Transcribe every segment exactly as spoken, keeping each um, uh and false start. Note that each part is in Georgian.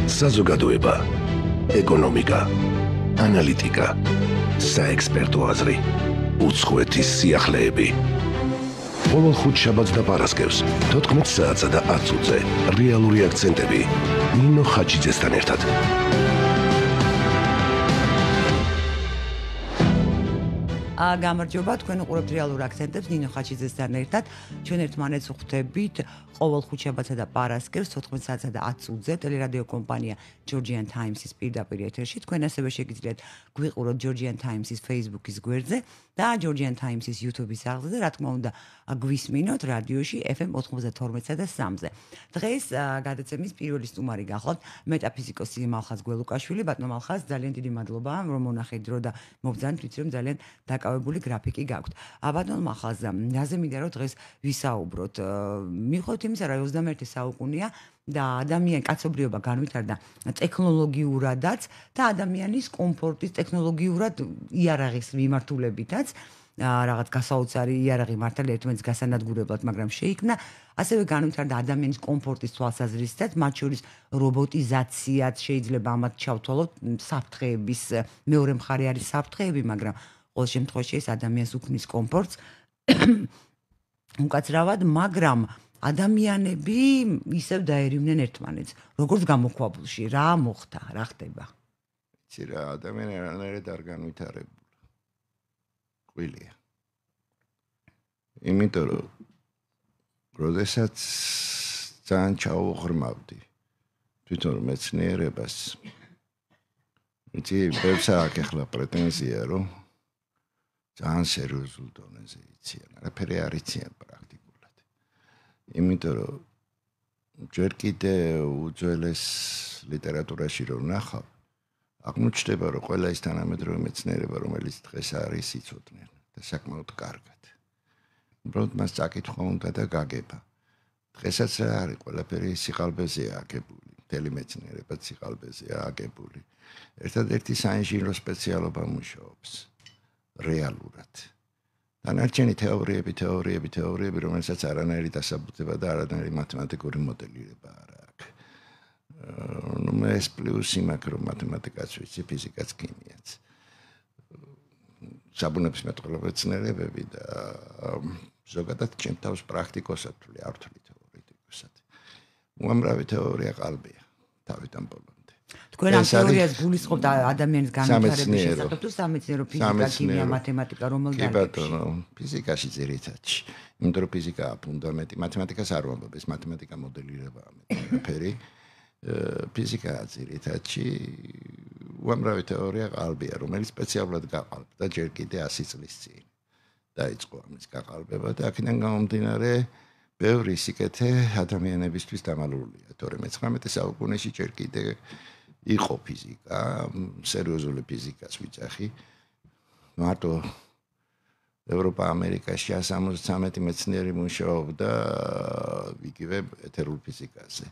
საზოგადოება, ეკონომიკა, ანალიტიკა, საექსპერტო აზრი, უცხოეთის სიახლეები. ყოველ ხუთშაბათს და პარასკევს, თოთხმეტ საათსა და ათს ოცზე, რეალური აქცენტები, ნინო ხაჩიძესთან ერთად. გამარჯობა, თქვენ უყურებთ რეალურ აქცენტებს ნინო ხაჩიძესთან ერთად. ჩვენ ერთმანეთს ვხვდებით ყოველ ხუთშაბათსა და პარასკევს თოთხმეტ საათსა და ათს ოცზე ტელერადიო კომპანია Georgian Times-ის პირდაპირ ეთერში. თქვენ ასევე შეგიძლიათ გვიყუროთ Georgian Times-ის Facebook-ის გვერდზე და Georgian Times-ის YouTube-ის აღზე და რა თქმა უნდა გვისმინოთ რადიოში F M ოცდათორმეტსა და სამზე. დღეს გადაცემის პირველი სტუმარი გახლავთ მეტაფიზიკოსი მალხაზ გველუკაშვილი. ბატონო მალხაზ, ძალიან დიდი მადლობა რომ მონახეთ დრო და მობრძანეთ, ვიცი რომ ძალიან დაკავებული გრაფიკი გაქვთ. ბატონო მალხაზ, რაზე მინდა რომ დღეს ვისაუბროთ? მივხვდით იმისა, რომ ოცდამეერთე საუკუნეა და ადამიანი კაცობრიობა განვითარდა ტექნოლოგიურადაც და ადამიანის კომფორტის ტექნოლოგიურად იარაღის მიმართულებითაც რაღაც გასაოცარი იარაღი მართალია ერთმანეთს გასანადგურებლად, მაგრამ შეიქმნა ასევე განვითარდა ადამიანის კომფორტის თვალსაზრისითაც, მათ შორის რობოტიზაციაც შეიძლება ამათ ჩავთვალოთ, საფრთხეების მეორე მხარე არის საფრთხეები, მაგრამ ყოველ შემთხვევაში ეს ადამიანს უქმნის კომფორტს უკაცრავად, მაგრამ ადამიანები ისევ დაერივნენ ერთმანეთს. როგორც გამოქვაბულში, რა მოხდა, რა ხდება? იცი რა, ადამიანი არანაირად არ განვითარებულა. ყვილია. იმიტომ რომ როდესაც ძალიან ჩაუღრმავდი თვითონ მეცნიერებას, იცი, ბევრს აქვს ახლა პრეტენზია, რომ ძალიან სერიოზულ დონეზე იციან, არაფერი არ იციან პრაქტიკულად. იმიტომ რომ ჯერ კიდე უძველეს ლიტერატურაში რომ ნახავ, აღმოჩნდება, რომ ყველა ის თანამედროვე მეცნიერება, რომელიც დღეს არის, იცოდნენ და საკმაოდ კარგად. უბრალოდ მას წაკითხვა უნდა და გაგება. დღესაც რა არის, ყველაფერი სიყალბეზეა აგებული, მთელი მეცნიერება სიყალბეზეა აგებული. ერთადერთი საინჟინრო სპეციალობა მუშაობს რეალურად. დანარჩენი თეორიები, თეორიები, თეორიები, რომელსაც არანაირი დასაბუთება და არანაირი მათემატიკური მოდელირება არ აქვს. ნუ მე ეს პლუსი მაქვს, რომ მათემატიკაც ვიცი, ფიზიკაც, ქიმიაც. საბუნებისმეტყველო მეცნიერებები და ზოგადად ჩემ თავს პრაქტიკოსად ვთვლი, არ ვთვლი თეორეტიკოსად. უამრავი თეორია ყალბია თავიდან ბოლომდე. თქვენ ამ თეორიას გულისხმობთ ადამიანის განვითარების შესახებ თუ სამეცნიერო ფიზიკა, ქიმია, მათემატიკა, რომელ დარგებში? კი ბატონო, ფიზიკაში ძირითადში. იმიტომ რომ ფიზიკაა ფუნდამენტი, მათემატიკას არ ვამბობ, ეს მათემატიკა მოდელირებაა მეტი. ფიზიკაა ძირითადში უამრავი თეორია ყალბია, რომელიც სპეციალურად გაყალბდა და ჯერ კიდე ასი წლის წინ დაიწყო ამის გაყალბება და აქედან გამომდინარე ბევრი სიკეთე ადამიანებისთვის დამალულია. თორემ მეცხრამეტე საუკუნეში ჯერ კიდე იყო ფიზიკა, სერიოზული ფიზიკას ვიძახი. მარტო ევროპა, ამერიკაში სამოცდამეტი მეცნიერი მუშაობდა იგივე ეთერულ ფიზიკაზე.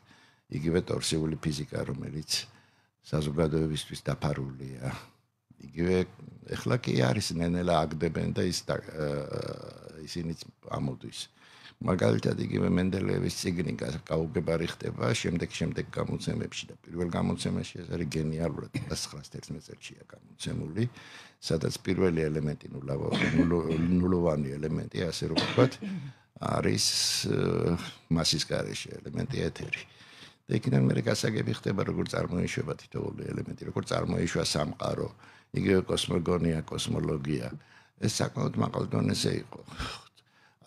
იგივე ტორსიული ფიზიკა, რომელიც საზოგადოებისთვის დაფარულია. იგივე ეხლა კი არის ნენელა აგდებენ და ის ისინიც ამოდის. მაგალითად იგივე მენდელეევის წიგნი გაუგებარი ხდება შემდეგ შემდეგ გამოცემებში და პირველ გამოცემაში ეს არის გენიალურად ცხრას თერთმეტ წელშია გამოცემული, სადაც პირველი ელემენტი ნულოვანი ელემენტი, ასე რომ ვთქვათ, არის მასის გარეშე ელემენტი ეთერი. და იქიდან მერე გასაგები ხდება, როგორ წარმოიშვება თითოეული ელემენტი, როგორ წარმოიშვა სამყარო, იგივე კოსმოგონია, კოსმოლოგია. ეს საკმაოდ მაღალ დონეზე იყო.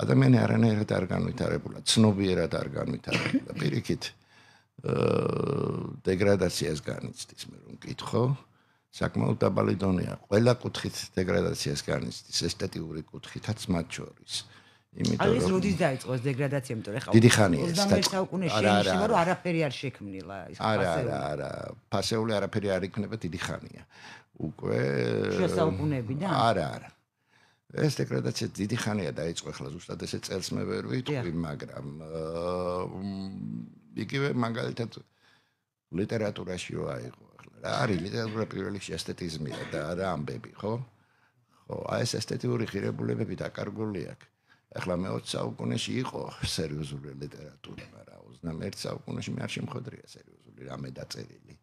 ადამიანი არანაირად არ განვითარებულა, ცნობიერად არ განვითარებულა. პირიქით, დეგრადაციას განიცდის, მე რომ მკითხო, საკმაოდ დაბალი დონეა. ყველა კუთხით დეგრადაციას განიცდის, ესთეტიური კუთხითაც მათ შორის. იმიტომ რომ როდის დაიწყო ეს დეგრადაცია, იმიტომ რომ დიდი ხანია ეს ოცდამეერთე საუკუნეში შეინიშნება, რომ არაფერი არ შექმნილა ეს ფასეული. არა, არა, არა, ფასეული არაფერი არ იქნება დიდი ხანია. უკვე შესაუკუნეებიდან? არა, არა. ეს დეგრადაცია დიდი ხანია დაიწყო, ახლა ზუსტად ესე წელს მე ვერ ვიტყვი, მაგრამ იგივე მაგალითად ლიტერატურაში რა იყო ახლა. რა არის ლიტერატურა პირველ რიგში ესთეტიზმია და არა ამბები, ხო? ხო, აი ეს ესთეტიური ღირებულებები დაკარგული აქვს. ახლა მეოცე საუკუნეში იყო სერიოზული ლიტერატურა, მაგრამ ოცდამეერთე საუკუნეში მე არ შემხვედრია სერიოზული რამე დაწერილი.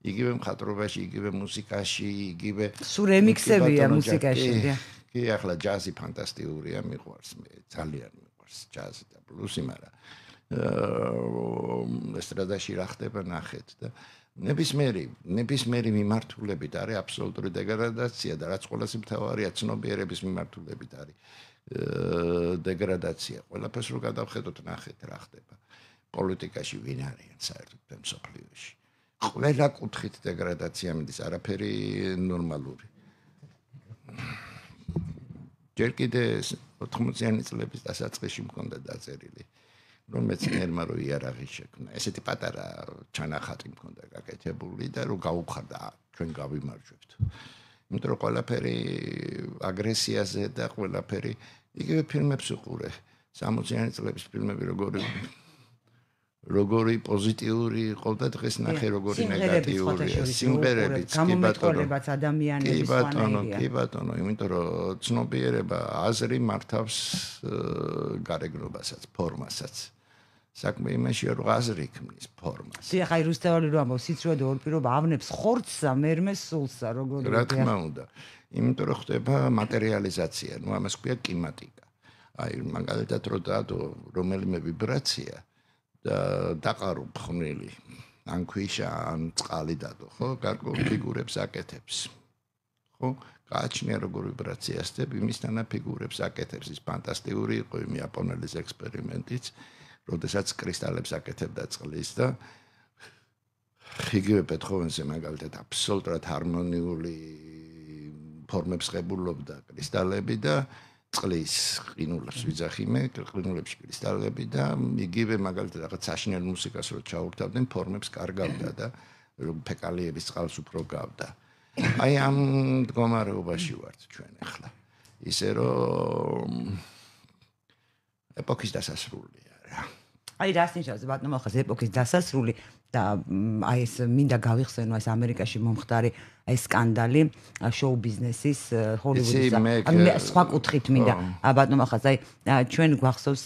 იგივე მხატვრობაში, იგივე მუსიკაში, იგივე სულ რემიქსებია მუსიკაში. კი, ახლა ჯაზი ფანტასტიკურია, მიყვარს მე, ძალიან მიყვარს ჯაზი და ბლუსი, მაგრამ ესტრადაში რა ხდება ნახეთ და ნებისმიერი, ნებისმიერი მიმართულებით არის აბსოლუტური დეგრადაცია და რაც ყველაზე მთავარია, ცნობიერების მიმართულებით არის დეგრადაცია. ყველაფერს რო გადავხედოთ, ნახეთ რა ხდება. პოლიტიკაში ვინ არიან საერთოდ მსოფლიოში. ყველა კუთხით დეგრადაცია მიდის, არაფერი ნორმალური. ჯერ კიდე ოთხმოციანი წლების დასაწყისში მქონდა დაწერილი, რომ მეცნიერმა რო იარაღი შექმნა. ესეთი პატარა ჩანახატი მქონდა გაკეთებული და რო გაუხარდა, ჩვენ გავიმარჯვებთ. იმიტომ რომ ყველაფერი აგრესიაზე და ყველაფერი იგივე ფილმებს უყურე. სამოციანი წლების ფილმები როგორი როგორი პოზიტიური იყო და დღეს ნახე როგორი ნეგატიურია. სიმღერებიც, კი ბატონო, ადამიანების სხვანაირია. კი ბატონო, იმიტომ რომ ცნობიერება აზრი მართავს გარეგნობასაც, ფორმასაც. საქმე იმაშია, რომ აზრი ქმნის ფორმას. დიახ, აი რუსთაველი რომ ამბობს, სიცრუე და ორპირობა ავნებს ხორცსა, მერმე სულსა, როგორი რა თქმა უნდა. იმიტომ რომ ხდება მატერიალიზაცია, ну ამას ქვია კიმატიკა. აი მაგალითად რო დადო რომელიმე ვიბრაცია და დაყარო ფხვნილი ან ქვიშა ან წყალი დადო, ხო? გარკვეულ ფიგურებს აკეთებს. ხო? გააჩნია როგორ ვიბრაციას და იმისთანა ფიგურებს აკეთებს. ის ფანტასტიკური იყო იმ იაპონელის ექსპერიმენტიც, როდესაც კრისტალებს აკეთებდა წყლის და იგივე ბეთჰოვენზე მაგალითად აბსოლუტურად ჰარმონიული ფორმებს ღებულობდა კრისტალები და წყლის ყინულებს ვიძახიმე, ყინულებში კრისტალები და იგივე მაგალითად რაღაც საშინელ მუსიკას რო ჩაურთავდნენ, ფორმებს კარგავდა და ფეკალიების წყალს უფრო გავდა. აი ამ მდგომარეობაში ვართ ჩვენ ახლა. ისე რომ ეპოქის დასასრულია რა. აი რას ნიშნავს ბატონო ხას ეპოქის დასასრული და აი ეს მინდა გავიხსენო ეს ამერიკაში მომხდარი აი სკანდალი შოუ ბიზნესის ჰოლივუდის ანუ მე სხვა კუთხით მინდა ბატონო ხას აი ჩვენ გვახსოვს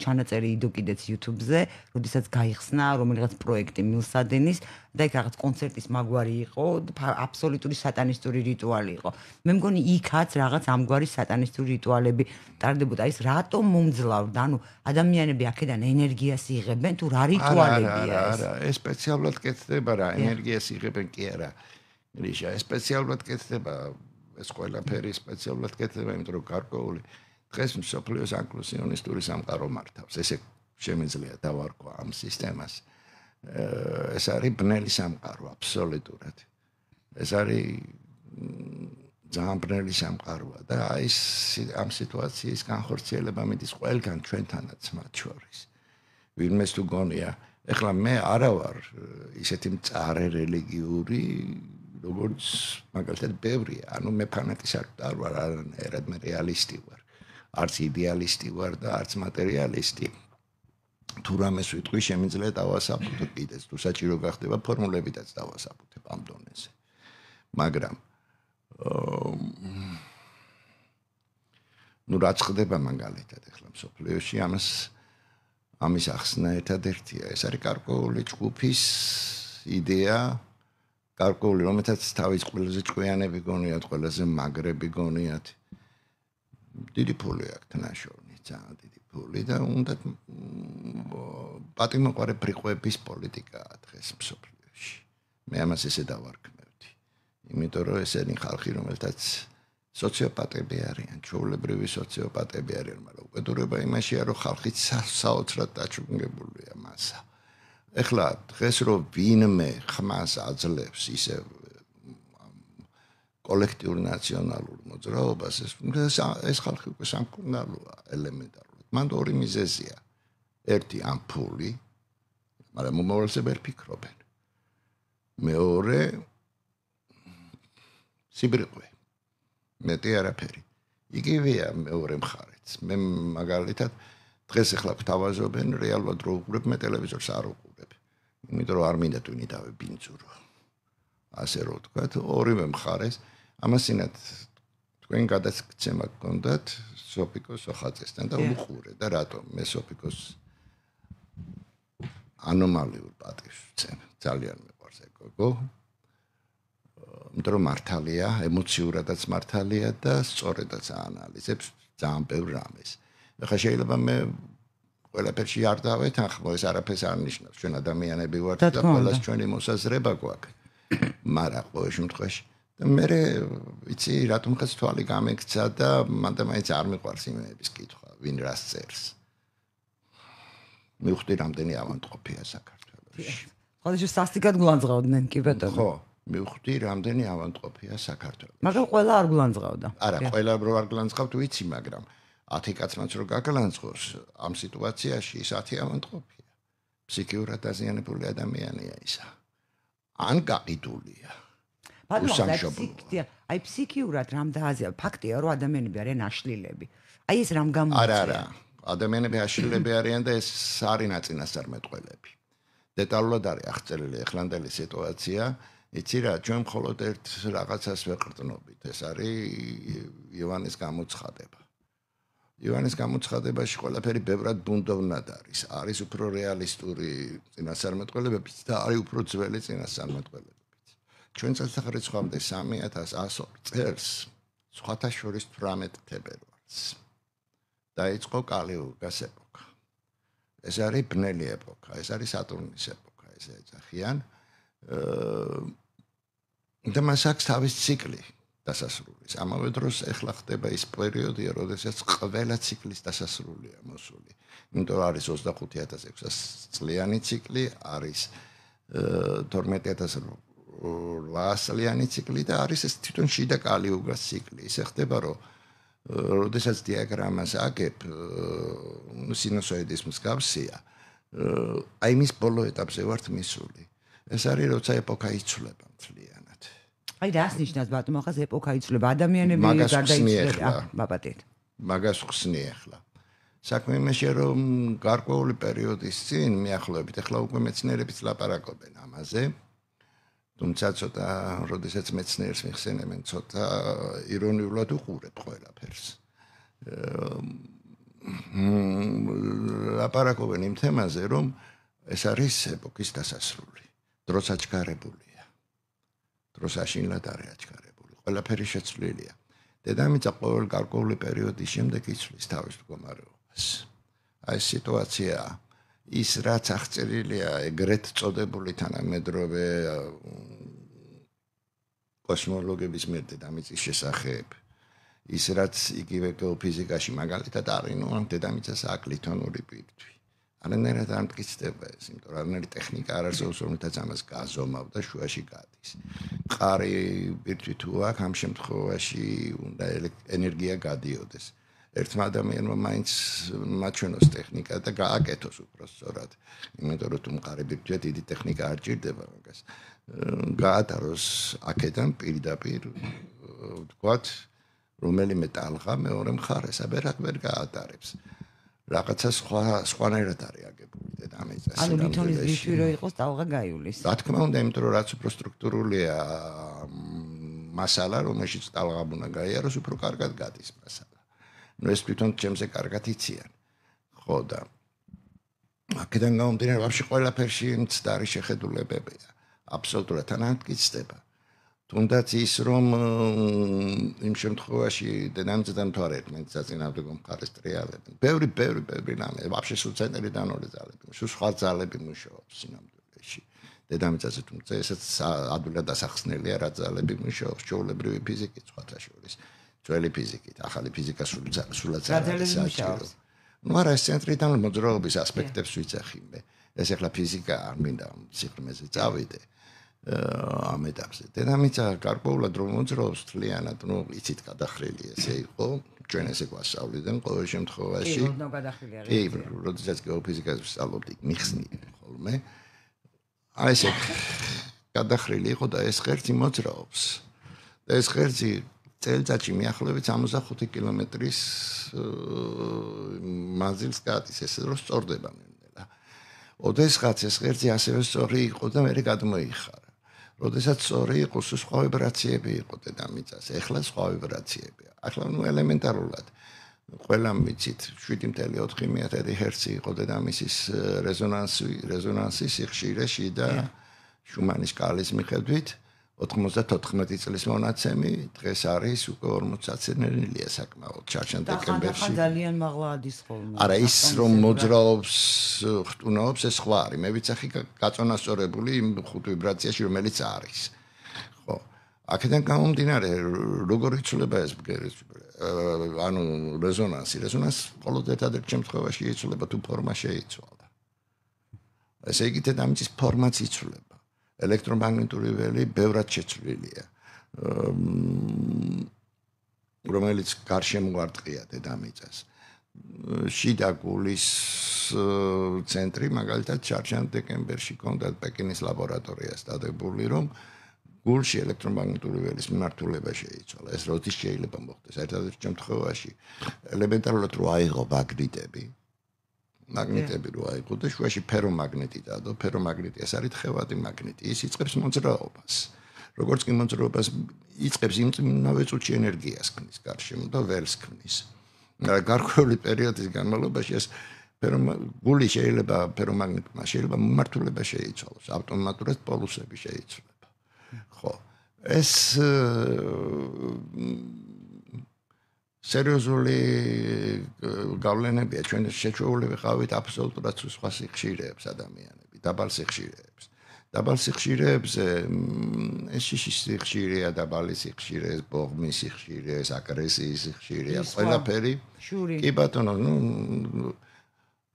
ჩანაწერი იდო კიდეც YouTube-ზე, როდესაც გაიხსნა რომელიღაც პროექტი მილსადენის და იქ რაღაც კონცერტის მაგვარი იყო, აბსოლუტური სატანისტური რიტუალი იყო. მე მგონი იქაც რაღაც ამგვარი სატანისტური რიტუალები ტარდებოდა. ის რატომ მომძლავრდა? ანუ ადამიანები აქედან ენერგიას იღებენ თუ რა რიტუალებია ეს? არა, ეს სპეციალურად კეთდება რა, ენერგიას იღებენ კი არა. რიშა, ეს სპეციალურად კეთდება, ეს ყველაფერი სპეციალურად კეთდება, იმიტომ რომ გარკვეული დღეს მსოფლიოს ანკლუსიონისტური სამყარო მართავს. ესე შემიძლია დავარქვა ამ სისტემას. ეს არის ბნელი სამყარო აბსოლუტურად. ეს არის ძალიან ბნელი სამყაროა და აი ამ სიტუაციის განხორციელება მიდის ყველგან ჩვენთანაც მათ შორის. ვინმეს თუ გონია, ეხლა მე არა ვარ ისეთი მწარე რელიგიური, როგორც მაგალითად ბევრია, ანუ მე ფანატიზმი არ ვარ, არანაირად მე რეალისტი ვარ. არც იდეალისტი ვარ და არც მატერიალისტი. თუ რამეს ვიტყვი, შემიძლია დავასაბუთებ კიდეც, თუ საჭირო გახდება ფორმულებითაც დავასაბუთებ ამ დონეზე. მაგრამ ნუ რაც ხდება მაგალითად ახლა მსოფლიოში, ამას ამის ახსნა ერთადერთია. ეს არის გარკვეული ჯგუფის იდეა, გარკვეული, რომელთაც თავის ყველაზე ჭკვიანები გონიათ, ყველაზე მაგრები გონიათ. დიდი ფული აქვს ნაშოვნი, ძალიან დიდი ფული და უნდა პატიმოყარე ბრიყვების პოლიტიკაა დღეს მსოფლიოში. მე ამას ესე დავარქმევდი. იმიტომ რომ ესენი ხალხი, რომელთაც სოციოპატები არიან, ჩვეულებრივი სოციოპატები არიან, მაგრამ უკიდურება იმაშია, რომ ხალხი საოცრად დაჩუნებულია მასა. ეხლა დღეს რომ ვინმე ხმას აძლევს ისე კოლექტიურ ნაციონალურ მოძრაობას, ეს ეს ხალხი უკვე სამკურნალოა ელემენტარულად. მან ორი მიზეზია. ერთი ამ ფული, მაგრამ მომავალზე ვერ ფიქრობენ. მეორე სიბრიყვე. მეტი არაფერი. იგივეა მეორე მხარეც. მე მაგალითად დღეს ახლა გვთავაზობენ რეალურად რო უყურებ, მე ტელევიზორს არ უყურებ. იმიტომ რომ არ მინდა თვითონ დავებინძურო. ასე რომ ვთქვათ, ორივე მხარეს ამასინათ თქვენ გადაცემა გქონდათ სოფიკოს ოხაძესთან და უყურე და რატომ მე სოფიკოს ანომალიურ პატივს ვცემ ძალიან მეყვარს ეგ გოგო იმიტომ რომ მართალია ემოციურადაც მართალია და სწორედაც აანალიზებს ძალიან ბევრ რამეს ახლა შეიძლება მე ყველაფერში არ დავეთანხმო ეს არაფერს არ ნიშნავს ჩვენ ადამიანები ვართ და ყველას ჩვენი მოსაზრება გვაქვს მაგრამ ყოველ შემთხვევაში და მე ვიცი რატომ ხაც თვალი გამექცა და მანდ მაინც არ მიყვარს იმების კითხვა ვინ რას წერს მივხვდი რამდენი ავანტყოფია საქართველოში ხოლმე სასტიკად გულანძღავდნენ კი ბატონო ხო მივხვდი რამდენი ავანტყოფია საქართველოში მაგრამ ყველა არ გულანძღავდა არა ყველა რო არ გულანძღავთ ვიცი მაგრამ ათი კაცმაც რო გაგლანძღოს ამ სიტუაციაში ის ათი ავანტყოფია ფსიქიურად დაზიანებული ადამიანია ისა ან გაყიდულია ბატონო აი ფსიქიურად რამ დააზიანა ფაქტია რომ ადამიანები არიან აშლილები აი ეს რამ გამოიწვია არა არა ადამიანები აშლილები არიან და ეს არის ნაწინასწარმეტყველები დეტალურად არის აღწერილი ეხლანდელი სიტუაცია იცი რა ჩვენ მხოლოდ ერთ რაღაცას ვეყრდნობით ეს არის ივანის გამოცხადება ივანის გამოცხადებაში ყველაფერი ბევრად ბუნდოვნად არის არის უფრო რეალისტური წინასწარმეტყველებებიც და არის უფრო ძველი წინასწარმეტყველებებიც ჩვენ წელთაღრიცხვამდე სამი ათას ათას ორი წელს სხვათა შორის თვრამეტ თებერვალს დაიწყო კალიურგას ეპოქა ეს არის ბნელი ეპოქა ეს არის სატურნის ეპოქა ესე ეძახიან და მას აქვს თავის ციკლი დასასრულის ამავე დროს ეხლა ხდება ის პერიოდია როდესაც ყველა ციკლის დასასრულია მოსული იმიტომ არის ოცდახუთი ათას ექვსას წლიანი ციკლი არის თორმეტი ათას რვაას წლიანი ციკლი და არის ეს თვითონ შიდა კალიურგას ციკლი ისე ხდება რომ როდესაც დიაგრამას აგებ სინუსოიდის მსგავსია აი მის ბოლო ეტაპზე ვართ მისული ეს არის როცა ეპოქა იცვლება მთლიანად აი რას ნიშნავს ბატონო ახლა ეპოქა იცვლება ადამიანები გარდაიცვლება ბაბატეთ მაგას ხსნი ახლა საქმე იმაშია რომ გარკვეული პერიოდის წინ მიახლოებით ახლა უკვე მეცნიერებიც ლაპარაკობენ ამაზე თუმცა ცოტა როდესაც მეცნიერს მიხსენებენ ცოტა ირონიულად უყურებ ყველაფერს ლაპარაკობენ იმ თემაზე რომ ეს არის ეპოქის დასასრული დროც აჩქარებულია დროს აშინლად არის აჩქარებული ყველაფერი შეცვლილია დედამიწა ყოველ გარკვეული პერიოდის შემდეგ იცვლის თავის მდგომარეობას აი სიტუაცია ის რაც აღწერილია ეგრეთ წოდებული თანამედროვე კოსმოლოგების მიერ დედამიწის შესახებ ის რაც იგივე გეოფიზიკაში მაგალითად არის ნუ ამ დედამიწას აკლითონური პირთვი არანაირად არ მტკიცდება ეს იმიტომ რომ არანაირი ტექნიკა არ არსებობს რომელთაც ამას გაზომავ და შუაში გადის მყარი პირთვი თუ აქვს ამ შემთხვევაში უნდა ენერგია გადიოდეს ერთმა ადამიანმა მაინც მაჩვენოს ტექნიკა და გააკეთოს უბრალოდ იმიტომ რომ თუ მყარი პირთვია დიდი ტექნიკა არ ჭირდება მაგას გაატაროს აქედან პირდაპირ ვთქვათ რომელიმე ტალღა მეორე მხარეს აბერად ვერ გაატარებს რაღაცა სხვა სხვანაირად არის აგებული დედამიწა ანუ ლითონის ბირთვი რო იყოს ტალღა გაივლის რა თქმა უნდა იმიტომ რომ რაც უფრო სტრუქტურულია მასალა რომელშიც ტალღა უნდა გაიაროს უფრო კარგად გადის მასალა ნუ ეს თვითონ ჩემზე კარგად იციან ხო და აქედან გამომდინარე ვაფშე ყველაფერში მცდარი შეხედულებებია აბსოლუტურად თანამტკიცდება თუნდაც ის რომ იმ შემთხვევაში დედამიწიდან თუ არ ერთმანეთს აწინააღმდეგო მხარეს ტრიალებენ ბევრი ბევრი ბევრი რამე ვაფშე სულ ცენტრიდან ორი ძალები სულ სხვა ძალები მუშაობს სინამდვილეში დედამიწაზე თუმცა ესაც ადვილად დასახსნელია რა ძალები მუშაობს ჩვეულებრივი ფიზიკით სხვათა შორის ძველი ფიზიკით ახალი ფიზიკა სულად არის საჭირო ნუ არა ეს ცენტრიდან მოძრაობის ასპექტებს ვიცახი მე ეს ახლა ფიზიკა არ მინდა სიღრმეზე წავიდე ამ ეტაპზე დედამიწა გარკვეულად რომ მოძრაობს თლიანად ნუ იცით გადახრილი ესე იყო ჩვენ ესე გვასწავლიდან ყოველ შემთხვევაში კი ნუ გადახრილია კი როდესაც გეოფიზიკას ვსწავლობდი მიხსნილი ხოლმე აი ესე გადახრილი იყო და ეს ღერძი მოძრაობს და ეს ღერძი წელიწადში მიახლოებით სამოცდახუთი კილომეტრის მანძილს გადის ესე რომ სწორდება ნელა ოდესღაც ეს ღერძი ასევე სწორი იყო და მე გადმოიხარა როდესაც სწორი იყო, სხვა ვიბრაციები იყო დედამიწას, ეხლა სხვა ვიბრაციებია. ახლა ნუ ელემენტარულად ყველა მიცით შვიდი კoma ოთხი მეათედი ჰერცი იყო დედამისის რეზონანსი, რეზონანსი სიხშირეში და შუმანის სკალის მიხედვით ოთხმოცდათოთხმეტი წლის მონაცემი დღეს არის უკვე ორმოცდაათი საკმაოდ ჩარჩან დეკემბერში. ძალიან მაღლა ადის ხოლმე. არა ის რომ მოძრაობს, ხტუნაობს ეს სხვა არის. მე ვიცახი გაწონასწორებული იმ ხუთ ვიბრაციაში რომელიც არის. ხო. აქედან გამომდინარე როგორ იცვლება ეს ანუ რეზონანსი, რეზონანსი მხოლოდ ერთადერთ შემთხვევაში იცვლება თუ ფორმა შეიცვალა. ესე იგი დედამიწის ფორმაც იცვლება. ელექტრომაგნიტური ველი ბევრად შეცვლილია. რომელიც გარშემო არტყია დედამიწას. შიდა გულის ცენტრი მაგალითად ჩარჩან დეკემბერში კონდათ პეკინის ლაბორატორიას დადებული რომ გულში ელექტრომაგნიტური ველის მიმართულება შეიცვალა. ეს როდის შეიძლება მოხდეს? ერთადერთ შემთხვევაში ელემენტარულად რო აიღო მაგნიტები მაგნიტები რო აიღო და შუაში ფერომაგნიტი დადო, ფერომაგნიტი ეს არის თხევადი მაგნიტი, ის იწყებს მოძრაობას. როგორც კი მოძრაობას იწყებს, იმავე წუთში ენერგიას ქმნის გარშემო და ველს ქმნის. გარკვეული პერიოდის განმავლობაში ეს გული შეიძლება ფერომაგნიტმა შეიძლება მიმართულება შეიცვალოს, ავტომატურად პოლუსები შეიცვლება. ხო, ეს სერიოზული გავლენებია ჩვენ შეჩვეული ვიყავით აბსოლუტურად სხვა სიხშირეებს ადამიანები, დაბალ სიხშირეებს. დაბალ სიხშირეებზე ეს შიშის სიხშირეა, დაბალი სიხშირე, ბოღმის სიხშირე, აგრესიის სიხშირეა, ყველაფერი. კი ბატონო, ნუ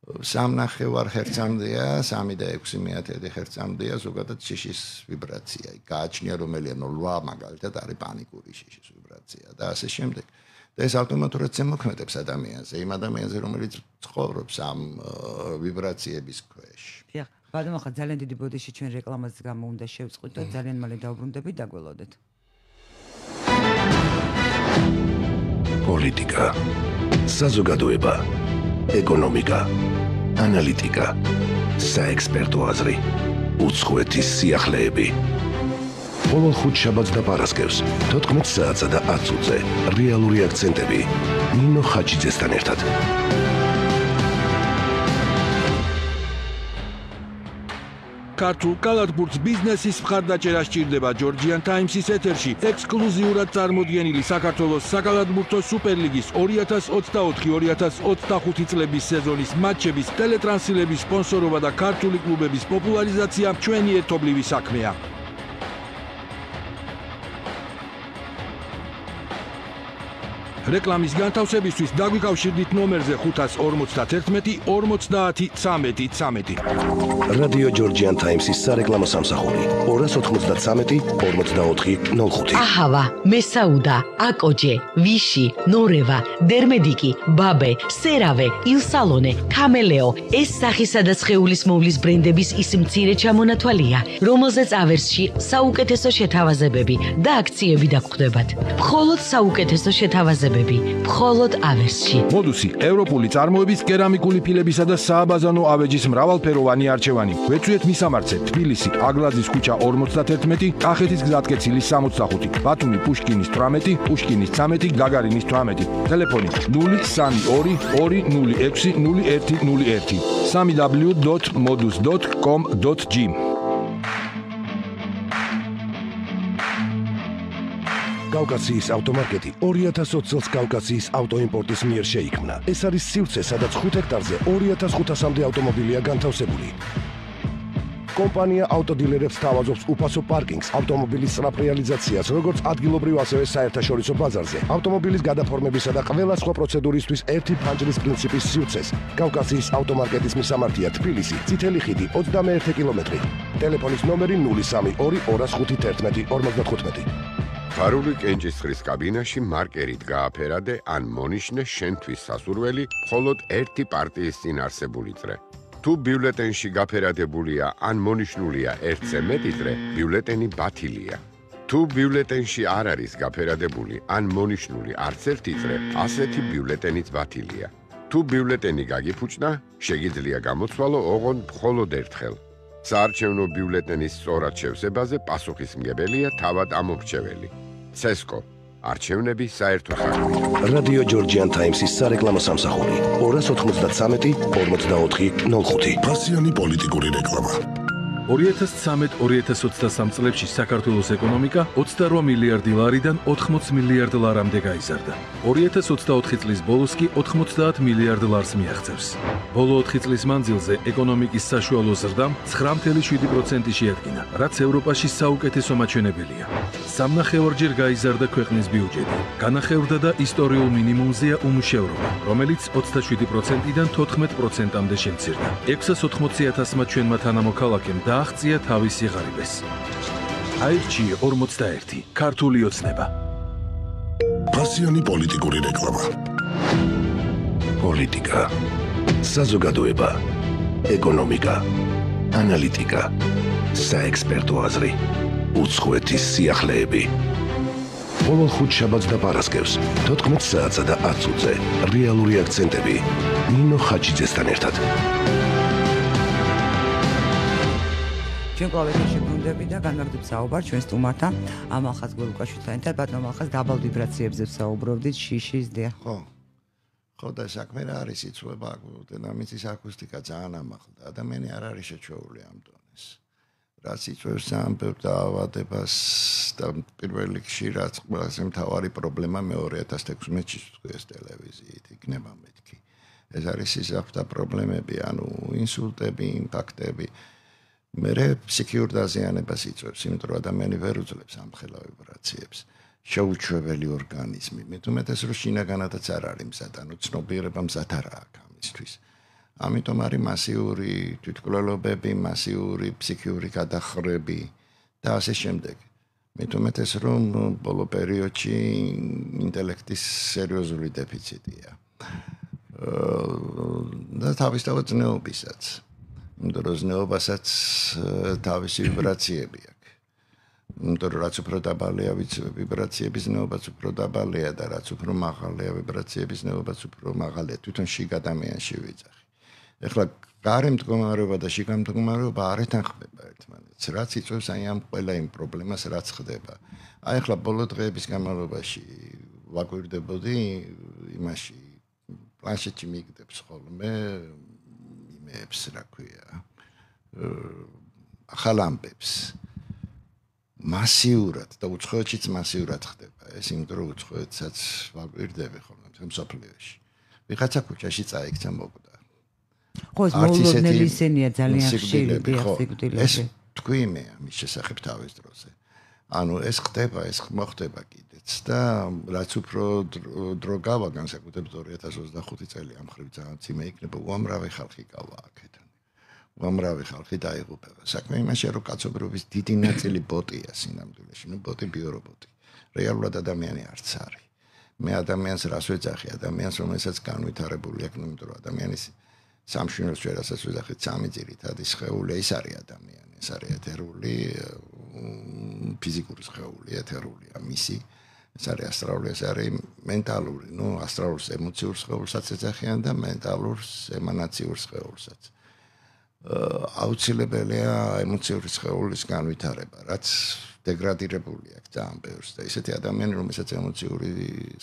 სამნახევარ ჰერცამდეა, სამი და ექვსი მეათედი ჰერცამდეა ზოგადად შიშის ვიბრაცია. გააჩნია რომელია ნოლა მაგალითად არის პანიკური შიშის ვიბრაცია და ასე შემდეგ. და ეს ავტომატურად ზემოქმედებს ადამიანზე, იმ ადამიანზე, რომელიც ცხოვრობს ამ ვიბრაციების ქვეშ. დიახ, ბატონო, ხა ძალიან დიდი ბოდიში ჩვენ რეკლამას გამო უნდა შევწყვით და ძალიან მალე დავბრუნდებით, დაგველოდეთ. პოლიტიკა, საზოგადოება, ეკონომიკა, ანალიტიკა, საექსპერტო აზრი, უცხოეთის სიახლეები. ყოველ ხუთშაბათს და პარასკევს თოთხმეტ საათსა და ათს ზე რეალური აქცენტები ნინო ხაჩიძესთან ერთად. ქართულ კალათბურთს ბიზნესის მხარდაჭერა სჭირდება ჯორჯიან ტაიმსის ეთერში ექსკლუზიურად წარმოდგენილი საქართველოს საკალათბურთო სუპერლიგის ორი ათას ოცდაოთხი ორი ათას ოცდახუთი წლების სეზონის მატჩების ტელეტრანსლების სპონსორობა და ქართული კლუბების პოპულარიზაცია ჩვენი ერთობლივი საქმეა. რეკლამის განთავსებისთვის დაგვიკავშირდით ნომერზე ხუთას ორმოცდაათი ორმოცდაათი ცამეტი ცამეტი. რადიო ჯორჯიან ტაიმსის სარეკლამო სამსახური ორას ოთხმოცდათრამეტი ორმოცდაოთხი ნულ ხუთი. აჰავა, მესაუდა, აკოჯე, ვიში, ნორევა, დერმედიკი, ბაბე, სერავე, ილსალონე, კამელეო ეს სახისა და სხეულის მოვლის ბრენდების ის მცირე ჩამონათვალია, რომელზეც ავერსში საუკეთესო შეთავაზებები და აქციები დაგხვდებათ. მხოლოდ საუკეთესო შეთავაზებები მხოლოდ ავერსში. მოდუსი ევროპული წარმოების კერამიკული ფილებისა და სააბაზანო ავეჯის მრავალფეროვანი არჩევანი. ვეცვიეთ მისამართზე თბილისი აგლაძის ქუჩა ორმოცდათერთმეტი, კახეთის გზატკეცილის სამოცდახუთი, ბათუმი პუშკინის თვრამეტი, პუშკინის ცამეტი, გაგარინის თვრამეტი. ტელეფონი ნული სამი ორი ორი ნული ექვსი ნული ერთი ნული ერთი. სამი დაბლიუ დოთ modus dot com dot g. კავკასიის ავტომარკეტი ორი ათას ოცი წელს კავკასიის ავტოიმპორტის მიერ შეიქმნა. ეს არის სივრცე, სადაც ხუთ ჰექტარზე ორი ათას ხუთასამდე ავტომობილია განთავსებული. კომპანია ავტოდილერებს თავაზობს უფასო პარკინგს, ავტომობილის სწრაფ რეალიზაციას, როგორც ადგილობრივ, ასევე საერთაშორისო ბაზარზე, ავტომობილის გადაფორმებისა და ყველა სხვა პროცედურისთვის ერთი ფანჯრის პრინციპის სივრცეს. კავკასიის ავტომარკეტის მისამართია თბილისი, წითელი ხიდი, ოცდამეერთი კილომეტრი. ტელეფონის ნომერი ნული სამი ორი ორას ხუთი თერთმეტი ორმოცდათხუთმეტი. ფარული კენჭისყრის კაბინაში მარკერით გააფერადე ან მონიშნე შენთვის სასურველი მხოლოდ ერთი პარტიის წინ არსებული წრე. თუ ბიულეტენში გაფერადებულია ან მონიშნულია ერთზე მეტი წრე, ბიულეტენი ბათილია. თუ ბიულეტენში არ არის გაფერადებული ან მონიშნული არც ერთი წრე, ასეთი ბიულეტენიც ბათილია. თუ ბიულეტენი გაგიფუჭნა, შეგიძლია გამოცვალო ოღონდ მხოლოდ ერთხელ. საარჩევნო ბიულეტენის სწორად შევსებაზე პასუხისმგებელია თავად ამორჩეველი. ცესკო არჩევნები საერთო საქმეა. რადიო ჯორჯიან ტაიმსის სარეკლამო სამსახური ორას ოცდამეტი ორმოცდაოთხი ნულ ხუთი. ფასიანი პოლიტიკური რეკლამა. ორი ათას ცხრამეტ ორი ათას ოცდასამ წლებში საქართველოს ეკონომიკა ოცდარვა მილიარდი ლარიდან ოთხმოც მილიარდ ლარამდე გაიზარდა. ორი ათას ოცდაოთხი წლის ბოლოს კი ოთხმოცდაათ მილიარდ ლარს მიაღწევს. ბოლო ოთხი წლის მანძილზე ეკონომიკის საშუალო ზრდამ ცხრა ფاصლე შვიდი პროცენტი შეადგინა, რაც ევროპაში საუკეთესო მაჩვენებელია. სამნახევარჯერ გაიზარდა ქვეყნის ბიუჯეტი. განახევრდა და ისტორიულ მინიმუმზეა უმუშევრობა, რომელიც ოცდაშვიდი პროცენტიდან თოთხმეტ პროცენტამდე შემცირდა. ექვსას ოცდაოთხი ათასმა ჩვენმა თანამოქალაქემ დააღწია თავისი ღარიბეს. აირჩიე ორმოცდაერთი. ქართული ოცნება. ფასიანი პოლიტიკური რეკლამა. პოლიტიკა, საზოგადოება, ეკონომიკა, ანალიტიკა, საექსპერტო აზრი, უცხოეთის სიახლეები. ყოველ ხუთშაბათს და პარასკევს თოთხმეტ საათსა და ათ წუთზე რეალური აქცენტები ნინო ხაჩიძესთან ერთად. ჩვენ კლავიშში გუნდები და განვაგრძობ საუბარ ჩვენ სტუმართან ამალხაზ გულუკაშვილთან ერთად ბატონო ამალხაზ დაბალ ვიბრაციებზე საუბრობდით შიშის დე ხო ხო და საქმე რა არის იწვება დინამიკის აკუსტიკა ძალიან ამაღლდა ადამიანი არ არის შეჩეული ამ დონეს რაც იწვევს ამბებ დაავადებას და პირველ რიგში რაც ყველაზე მთავარი პრობლემა მე ორი ათას თექვსმეტში თქვეს ტელევიზიით იქნება მეთქი ეს არის სისხლთა პრობლემები ანუ ინსულტები ინფარქტები მერე ფსიქიურ დაზიანებას იწვევს, იმიტომ რომ ადამიანი ვერ უძლებს ამ ხელა ვიბრაციებს. შეუჩვეველი ორგანიზმი. მე თუმეტეს რომ შინაგანადაც არ არის მზად, ანუ ცნობიერება მზად არ აქვს ამისთვის. ამიტომ არის მასიური თვითმკვლელობები, მასიური ფსიქიური გადახრები და ასე შემდეგ. მე თუმეტეს რომ ბოლო პერიოდში ინტელექტის სერიოზული დეფიციტია. და თავისთავად ზნეობისაც. დროზნეობასაც თავისი ვიბრაციები აქვს. იმიტომ რომ რაც უფრო დაბალია ვიბრაციების ზნეობაც უფრო დაბალია და რაც უფრო მაღალია ვიბრაციების ზნეობაც უფრო მაღალია. თვითონ შიგ ადამიანში ვიძახი. ეხლა გარე მდგომარეობა და შიგა მდგომარეობა არ ეთანხმება ერთმანეთს. რაც იწვევს აი ამ ყველა იმ პრობლემას რაც ხდება. აი ეხლა ბოლო დღეების განმავლობაში ვაკვირდებოდი იმაში პლანშეტში მიგდებს ხოლმე იმებს რა ქვია ახალ ამბებს მასიურად და უცხოეთშიც მასიურად ხდება ეს იმიტომ რომ უცხოეთსაც ვაკვირდები ხოლმე თემ სოფლიოში ვიღაცა ქუჩაში წაიქცა მოკდა ხო ეს მოულოდნელი ისენია ძალიან ხშირი სიკვდილები ეს თქვი მე ამის შესახებ თავის დროზე ანუ ეს ხდება ეს მოხდება კიდეც და რაც უფრო დრო გავა განსაკუთრებით ორი ათას ოცდახუთი წელი ამ ხრივ ძალიან ძიმე იქნება უამრავი ხალხი გავა აქედან უამრავი ხალხი დაიღუპება საქმე იმაშია რომ კაცობრიობის დიდი ნაწილი ბოტია სინამდვილეში ნუ ბოტი ბიორობოტი რეალურად ადამიანი არც არის მე ადამიანს რას ვეძახი ადამიანს რომელსაც განვითარებული აქვს ნუ იმიტომ რომ ადამიანის სამშვენოს შერასაც ვეძახით სამი ძირითადი სხეული ის არის ადამიანი ეს არის ეთერული ფიზიკური სხეული ეთერულია მისი ეს არის ასტრალური ეს არის მენტალური ნუ ასტრალურს ემოციურ სხეულსაც ეძახიან და მენტალურს ემანაციურ სხეულსაც აუცილებელია ემოციური სხეულის განვითარება რაც დეგრადირებული აქვს ძალიან ბევრს და ისეთი ადამიანი რომელსაც ემოციური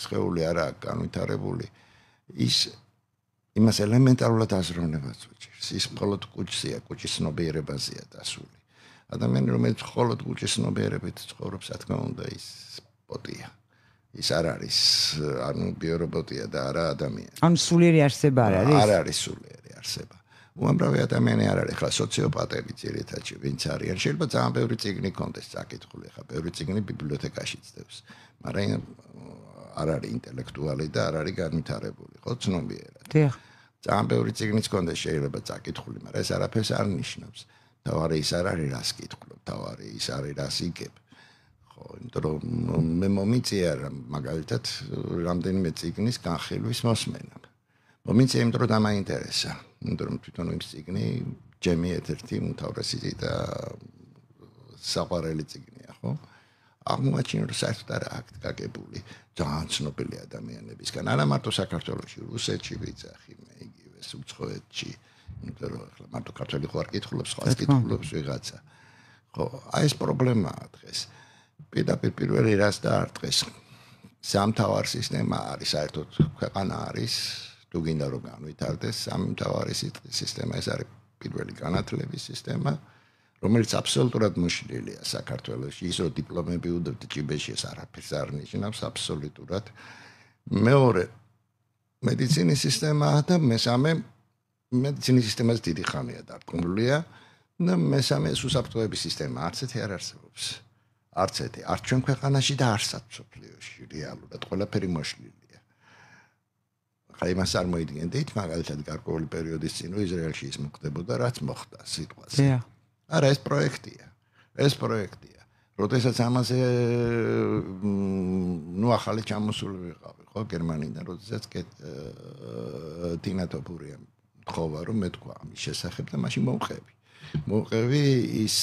სხეული არ აქვს განვითარებული ის იმას ელემენტარულად აზროვნებას უჭირს ის მხოლოდ კუჭია კუჭის ცნობიერებაზეა დასული ადამიანი რომელიც მხოლოდ კუჭის ცნობიერებით ცხოვრობს რა თქმა უნდა ის ბოტია ის არ არის ანუ ბიორობოტია და არა ადამიანი ანუ სულიერი არსება არ არის არ არის სულიერი არსება უამრავი ადამიანი არ არის ხა სოციოპატები ძირითადში ვინც არიან შეიძლება ძალიან ბევრი წიგნი კონდეს წაკითხული ხა ბევრი წიგნი ბიბლიოთეკაში წდევს მაგრამ არ არის ინტელექტუალი და არ არის განვითარებული ხო ცნობიერად დიახ ძალიან ბევრი წიგნიც კონდეს შეიძლება წაკითხული მაგრამ ეს არაფერს არ ნიშნავს თავარი ის არ არის რას კითხულობ თავარი ის არის რას იგებ ხო იმიტომ რომ მე მომიწია მაგალითად რამდენიმე წიგნის განხილვის მოსმენა მომიწია იმიტომ რომ დამაინტერესა იმიტომ რომ თვითონ იმ წიგნი ჯემი ერთ-ერთი უმთავრესი და საყვარელი წიგნია ხო აღმოაჩინე რომ საერთოდ არ აქვს გაგებული ძალიან ცნობილი ადამიანებისგან არა მარტო საქართველოში რუსეთში ვიძახი მე იგივე უცხოეთში იმიტომ რომ ახლა მარტო ქართველი ხო არ კითხულობს, სხვა კითხულობს ვიღაცა. ხო, აი ეს პრობლემაა დღეს. პირდაპირ პირველი რას დაარტყეს. სამთავარ სისტემა არის, საერთოდ ქვეყანა არის, თუ გინდა რომ განვითარდეს, სამთავარი სისტემა ეს არის პირველი განათლების სისტემა, რომელიც აბსოლუტურად მოშლილია საქართველოში, ის რომ დიპლომები უდევთ ჭიბეში ეს არაფერს არ ნიშნავს აბსოლუტურად. მეორე მედიცინის სისტემაა და მესამე მედიცინის სისტემაზე დიდი ხანია დარწმუნებულია და მესამე უსაფრთხოების სისტემა არც ერთი არ არსებობს. არც ერთი, არც ჩვენ ქვეყანაში და არცაც მსოფლიოში რეალურად ყველაფერი მოშლილია. ხა იმას არ მოიდგენდით, მაგალითად გარკვეული პერიოდის წინ რომ ისრაელში ის მოხდებოდა, რაც მოხდა სიტყვაზე. არა, ეს პროექტია. ეს პროექტია. როდესაც ამაზე ნუ ახალი ჩამოსული ვიყავი, ხო, გერმანიდან, როდესაც ტინა ტოპურიამ თხოვა რომ მეთქვა ამის შესახებ და მაშინ მოვყევი. მოვყევი ის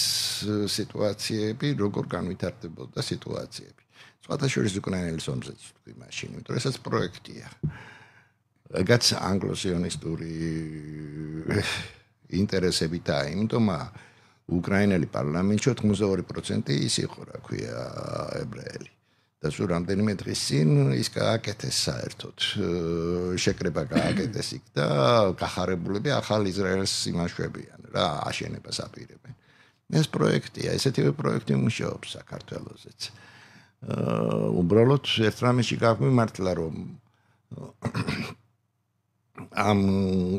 სიტუაციები, როგორ განვითარდებოდა სიტუაციები. სხვათა შორის უკრაინელის ომზეც თქვი მაშინ, იმიტომ რომ ესაც პროექტია. რაც ანგლო-სიონისტური ინტერესებითაა, იმიტომ უკრაინელი პარლამენტში ოთხმოცდაორი პროცენტი ის იყო, რა ქვია, ებრაელი. და სულ რამდენიმე დღის წინ ის გააკეთეს საერთოდ. შეკრება გააკეთეს იქ და გახარებულები ახალ ისრაელს იმაშვებიან, რა, აშენებას აპირებენ. ეს პროექტია, ესეთივე პროექტი მუშაობს საქართველოსზეც. უბრალოდ ერთ რამეში გაგვიმართლა, რომ ამ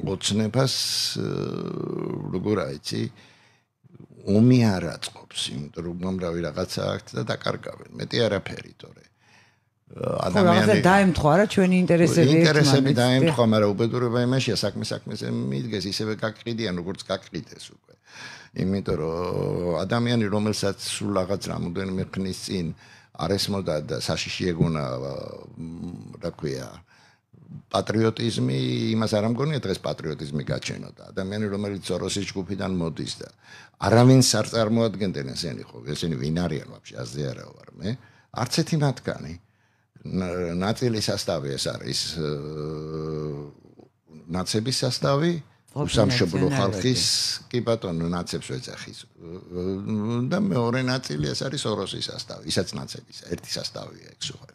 ოცნებას როგორ აიცი ომი არ აწყობს, იმიტომ რომ უამრავი რაღაცა აქვს და დაკარგავენ. მეტი არაფერი, თორე ადამიანი დაემთხვა რა ჩვენი ინტერესები ინტერესები დაემთხვა, მაგრამ უბედურება იმაშია, საქმე საქმეზე მიდგეს, ისევე გაკყიდიან, როგორც გაკყიდეს უკვე. იმიტომ რომ ადამიანი, რომელსაც სულ რაღაც რამოდენიმე ხნის წინ არ ესმოდა და საშიში ეგონა, რა ქვია, პატრიოტიზმი, იმას არ ამგონია დღეს პატრიოტიზმი გაჩენოდა. ადამიანი, რომელიც სოროსის ჯგუფიდან მოდის და არავინს არ წარმოადგენდნენ ესენი ხო, ესენი ვინ არიან ვაფშე, აზე არა ვარ მე. არც ერთი მათგანი. ნაწილი სასტავი ეს არის ნაცების სასტავი, უსამშობლო ხალხის, კი ბატონო, ნაცებს ეძახის. და მეორე ნაწილი ეს არის სოროსის სასტავი, ისაც ნაცების, ერთი სასტავია ეგ სულ.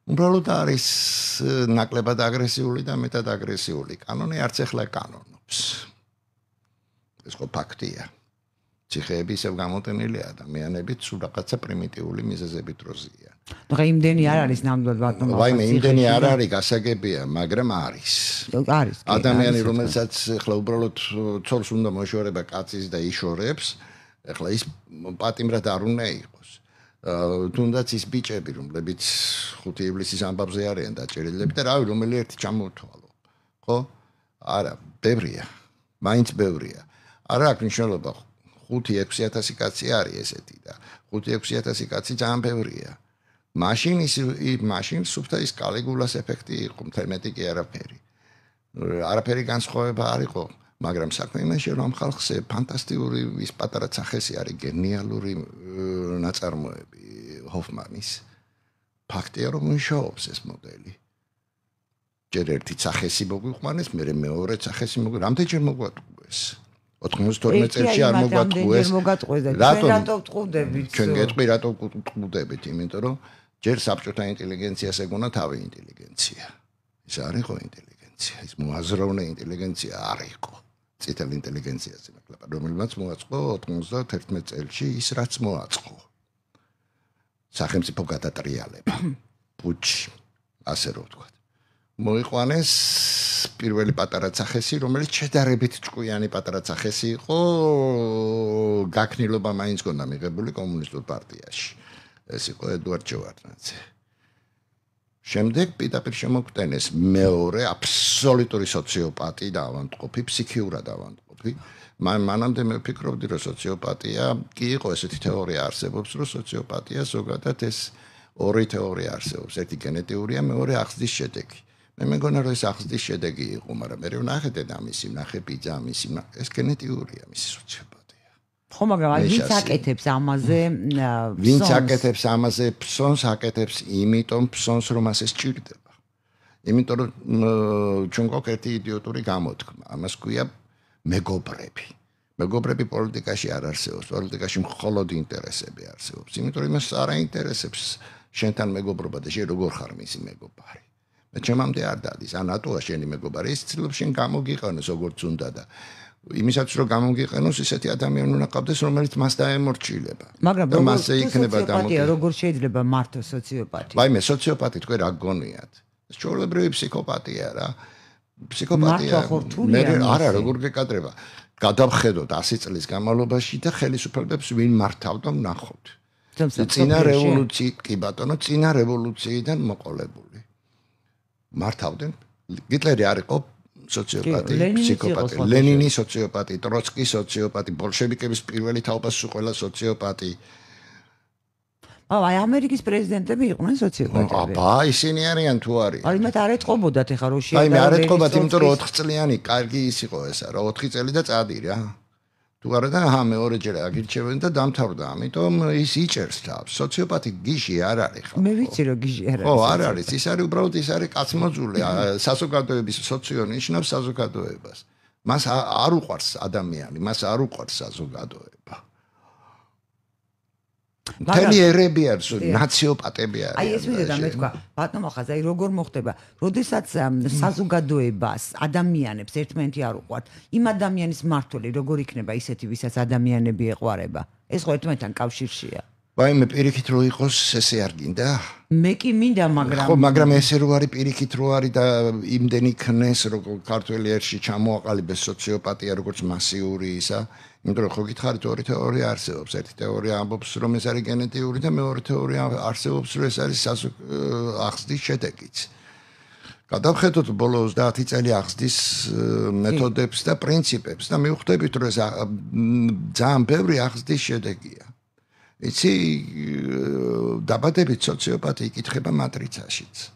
უბრალოდ არის ნაკლებად აგრესიული და მეტად აგრესიული კანონი არც ახლა კანონობს. ეს ხო ფაქტია. ციხეები ისევ გამოტენილი ადამიანებით სულ რაღაცა პრიმიტიული მიზეზებით დროზიან. ნუ იმდენი არ არის ნამდვილად ბატონო. ვაიმე, იმდენი არ არის, გასაგებია, მაგრამ არის. არის. ადამიანი, რომელსაც ახლა უბრალოდ ცოლს უნდა მოშორება კაცის და იშორებს, ახლა ის პატიმრად არ უნდა იყოს. თუნდაც ის ბიჭები, რომლებიც ხუთი ივლისის ამბავზე არიან დაჭერილები და რავი, რომელი ერთი ჩამოთვალო. ხო? არა, ბევრია. მაინც ბევრია. არა აქვს მნიშვნელობა. ხუთი ექვსი ათასი კაცი არის ესეთი და ხუთი ექვსი ათასი კაცი ძალიან ბევრია. მაშინ ის მაშინ სუფთა ის კალიგულას ეფექტი იყო, მთლიანად კი არაფერი. არაფერი განსხვავება არ იყო, მაგრამ საქმე იმაშია, რომ ამ ხალხზე ფანტასტიკური ის პატარა ცახესი არის, გენიალური ნაწარმოები ჰოფმანის. ფაქტია, რომ მუშაობს ეს მოდელი. ჯერ ერთი ცახესი მოგვიყვანეს, მერე მეორე ცახესი მოგვი, რამდენჯერ მოგვატყუეს? ოთხმოცდაოთხ წელში არ მოგვატყუეს. რატო ვტყუდებით? ჩვენ გეტყვი, რატო ვტყუდებით? იმიტომ რომ ჯერ საბჭოთა ინტელიგენციას ეგონა თავი ინტელიგენცია. ეს არ იყო ინტელიგენცია, ის მოაზროვნე ინტელიგენცია არ იყო. წითელ ინტელიგენციაზე ნაკლაპა, რომელმაც მოაწყო ოთხმოცდაათი წელში ის რაც მოაწყო. სახელმწიფო გადატრიალება. პუჩი, ასე რომ ვთქვათ. მოიყვანეს პირველი პატარა ცახესი, რომელიც შედარებით ჭკვიანი პატარა ცახესი იყო, გაქნილობა მაინც გონდა მიღებული კომუნისტურ პარტიაში. ეს იყო ედუარდ ჯევარდნაძე. შემდეგ პირდაპირ შემოგვტენეს მეორე აბსოლუტური სოციოპატი და ავადმყოფი, ფსიქიურად ავადმყოფი. მანამდე მე ვფიქრობდი, რომ სოციოპატია კი იყო ესეთი თეორია არსებობს, რომ სოციოპატია ზოგადად ეს ორი თეორია არსებობს, ერთი გენეტიურია, მეორე აღზრდის შედეგი. მე მეგონა რომ ეს აღზრდის შედეგი იყო, მაგრამ მე ვნახე დედამისი, ვნახე ბიძამისი, ეს გენეტიურია მისი სოციოპატია. ხო, მაგრამ ვინც აკეთებს ამაზე ვინც აკეთებს ამაზე ფსონს აკეთებს იმიტომ ფსონს რომ ასე სჭირდება. იმიტომ რომ ჩვენ გვაქვს ერთი იდიოტური გამოთქმა. ამას ქვია მეგობრები. მეგობრები პოლიტიკაში არ არსებობს, პოლიტიკაში მხოლოდ ინტერესები არსებობს. იმიტომ რომ იმას არ აინტერესებს შენთან მეგობრობა და შენ როგორ ხარ მისი მეგობარი. მე ჩემამდე არ დადის, ან ატოა შენი მეგობარი, ის ცდილობს შენ გამოგიყენოს როგორც უნდა და იმისაც რომ გამოგიყენოს ისეთი ადამიანი უნდა ყავდეს, რომელიც მას დაემორჩილება. მაგრამ მასზე იქნება დამოკიდებული, როგორ შეიძლება მართოს სოციოპათია? ვაიმე, სოციოპათი თქვენ რა გგონიათ? ეს ჩვეულებრივი ფსიქოპათია რა. ფსიქოპათია მე არა, როგორ გეკადრება? გადავხედოთ ასი წლის განმავლობაში და ხელისუფლებებს ვინ მართავდა ვნახოთ. წინა რევოლუცია, კი ბატონო, წინა რევოლუციიდან მოყოლებული. მართავდნენ. გიტლერი არ იყო სოციოპათი, ფსიქოპათი, ლენინი სოციოპათი, ტროცკი სოციოპათი, ბოლშევიკების პირველი თაობას უყველა სოციოპათი. აი ამერიკის პრეზიდენტები იყვნენ სოციოპათები. აბა, ისინი არიან თუ არის? აი მათ არ ეთყობოდათ ეხა რო შეიძლება. აი მე არ ეთყობათ, იმიტომ რომ ოთხ წლიანი კარგი ის იყო ესა, რა ოთხი წელი და წადი რა. თუ არა და ჰა მეორეჯერ აგირჩევენ და დამთავრდა, ამიტომ ის იჭერს თავს. სოციოპათი გიჟი არ არის ხო? მე ვიცი რომ გიჟი არ არის. ხო, არ არის, ის არის უბრალოდ ის არის კაცმოძული, საზოგადოების სოციო ნიშნავს საზოგადოებას. მას არ უყვარს ადამიანი, მას არ უყვარს საზოგადოება. მთელი ერები არის, ნაციოპატები არის. აი ეს ვიდეო მე თქვა, ბატონო ხაზ, აი როგორ მოხდება, როდესაც საზოგადოებას, ადამიანებს ერთმანეთი არ უყვართ, იმ ადამიანის მმართველი როგორ იქნება ისეთი, ვისაც ადამიანები ეყვარება? ეს ხო ერთმანეთთან კავშირშია. ვაი მე პირიქით რო იყოს, ესე არ გინდა? მე კი მინდა, მაგრამ ხო, მაგრამ ესე რო არის პირიქით რო არის და იმდენი ქნეს, როგორ ქართველი ერში ჩამოაყალიბეს სოციოპათია, როგორც მასიური ისა. იმიტომ რომ ხო გითხარით ორი თეორია არსებობს. ერთი თეორია ამბობს რომ ეს არის გენეტიური და მეორე თეორია არსებობს რომ ეს არის აღზრდის შედეგიც. გადავხედოთ ბოლო ოცდაათი წელი აღზრდის მეთოდებს და პრინციპებს და მივხვდებით რომ ეს ძალიან ბევრი აღზრდის შედეგია. იცი დაბადებით სოციოპათი იკითხება მატრიცაშიც.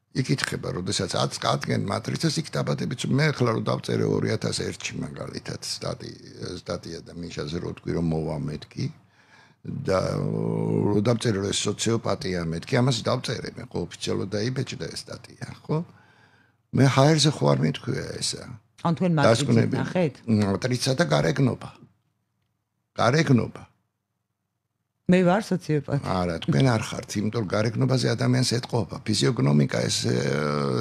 იკითხება, როდესაც აწკადგენ მატრიცას, იქ დაბადებით მე ახლა რომ დავწერე ორი ათას ერთში მაგალითად სტატია და მინაშაზე რო თქვი რომ მოვა მეთქი და რო დავწერე რომ ეს სოციოპათია მეთქი, ამას დავწერე მე ხო ოფიციალურად დაიბეჭდა ეს სტატია, ხო? მე ჰაერზე ხო არ მეთქვია ესა. ან თქვენ მატრიცას ნახეთ? მატრიცა და გარეგნობა. გარეგნობა. მე ვარ სოციოპათი. არა, თქვენ არ ხართ, იმიტომ რომ გარეგნობაზე ადამიანს ეთყობა. ფიზიოგნომიკა ეს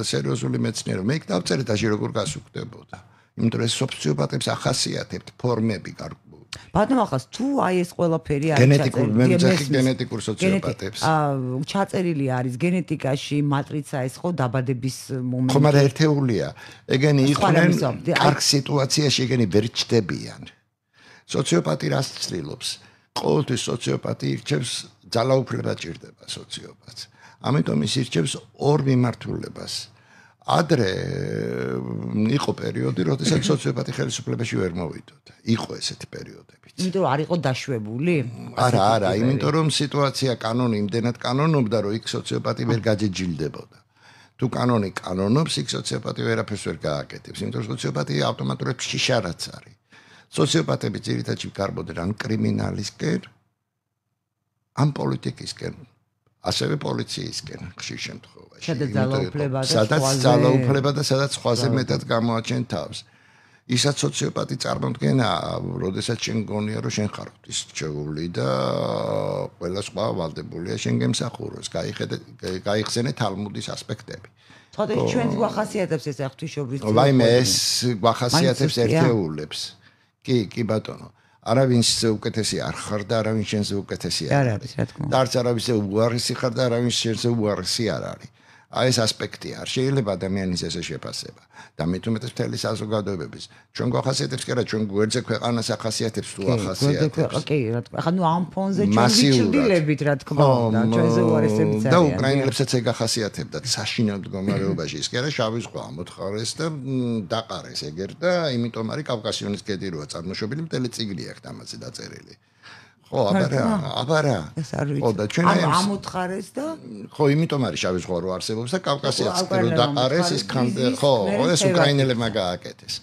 სერიოზული მეცნიერება. მე იქ დავწერე და როგორ გასუქდებოდა. იმიტომ რომ ეს სოციოპათებს ახასიათებთ ფორმები გარკვეული. ბატონო ახლა თუ აი ეს ყველაფერი არის გენეტიკურ, მე ვიძახი გენეტიკურ სოციოპათებს. აა ჩაწერილი არის გენეტიკაში მატრიცა ეს ხო დაბადების მომენტი. ხო, მაგრამ ერთეულია. ეგენი იყვნენ კარგ სიტუაციაში, ეგენი ვერ ჩდებიან. სოციოპათი რას ცდილობს? ყოველთვის სოციოპათი ირჩევს ძალაუფლება ჭირდება სოციოპათს. ამიტომ ის ირჩევს ორ მიმართულებას. ადრე იყო პერიოდი, როდესაც სოციოპათი ხელისუფლებაში ვერ მოვიდოდა. იყო ესეთი პერიოდებიც. იმიტომ რომ არ იყო დაშვებული? არა, არა, იმიტომ რომ სიტუაცია კანონი იმდენად კანონობდა, რომ იქ სოციოპათი ვერ გაჯეჯილდებოდა. თუ კანონი კანონობს, იქ სოციოპათი ვერაფერს ვერ გააკეთებს, იმიტომ რომ სოციოპათი ავტომატურად შიშარაც არის. სოციოპათები ძირითადად გარბოდნენ ან კრიმინალისკენ, ან პოლიტიკისკენ, ასევე პოლიციისკენ ხშირ შემთხვევაში. სადაც ძალაუფლება და სადაც სხვაზე მეტად გამოაჩენ თავს. ისაც სოციოპათი წარმოდგენა, როდესაც შენ გონია რომ შენ ხარ ღვთისმრჩეული და ყველა სხვა ვალდებულია შენ გემსახუროს, გაიხედე გაიხსენე თალმუდის ასპექტები. ხოდა ჩვენს გვახასიათებს ეს ღვთისმშობლიც. ვაიმე ეს გვახასიათებს ერთეულებს. კი, კი ბატონო. არავინს უკეთესი არ ხარ და არავინ შენზე უკეთესი არ არის. და არც არავის უარესი ხარ და არავინ შენზე უარესი არ არის. აი ეს ასპექტი არ შეიძლება ადამიანის ესე შეფასება. და მე თუ მეტად მთელი საზოგადოებების ჩვენ გვახასიათებს კი არა, ჩვენ გვერდზე ქვეყანას ახასიათებს თუ ახასიათებს. კი, რა თქმა უნდა. ახლა ნუ ამ ფონზე ჩვენ ვიჩრდილებით, რა თქმა უნდა, ჩვენზე უარესებიც არის. და უკრაინელებსაც ეგ ახასიათებდათ საშინელ მდგომარეობაში. ის კი არა შავი ზღვა ამოთხარეს და დაყარეს ეგერ და იმიტომ არის კავკასიონის გედი როა წარმოშობილი მთელი წიგნი აქვს ამაზე დაწერილი. ხო, აბარა, აბარა. ხო, და ჩვენ აი ამოთხარეს და ხო, იმიტომ არის შავი ზღვა რო არსებობს და კავკასიაც რო დაყარეს ის ხო, ეს უკრაინელებმა გააკეთეს.